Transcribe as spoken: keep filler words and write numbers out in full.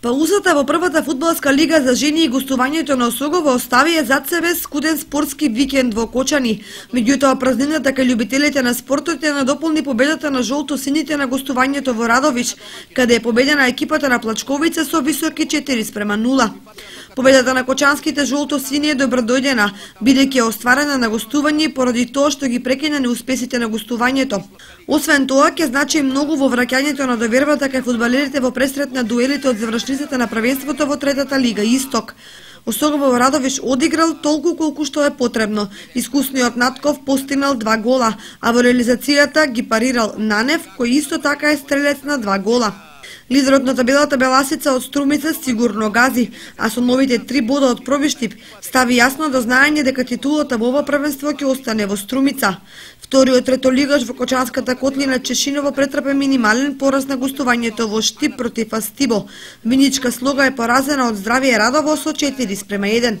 Паузата во првата фудбалска лига за жени и гостувањето на Осогово оставија зад себе скуден спортски викенд во Кочани. Меѓутоа, празнината кај љубителите на спортот ја надополни победата на жолто-сините на гостувањето во Радович, каде е победена екипата на Плачковица со високи четири спрема нула. Победата на кочанските жолто-сини е добродојдена, бидејќи е остварена на гостување поради тоа што ги прекина неуспесите на гостувањето. Освен тоа, ќе значи многу во враќањето на довербата кај фудбалерите во пресрет на дуелите од завршниците на првенството во третата лига Исток. Осогово во Радовиш одиграл толку колку што е потребно. Искусниот Натков постигнал два гола, а во реализацијата ги парирал Нанев, кој исто така е стрелец на два гола. Лидерот на табелата Беласица од Струмица сигурно гази, а со новите три бода од Пробиштип стави јасно до знаење дека титулата во ова првенство ќе остане во Струмица. Вториот третолигаш во Кочанската котлина Чешиново претрпе минимален пораз на гостувањето во Штип против Астибо. Виничка Слога е поразена од Здравие Радово со четири спрема еден.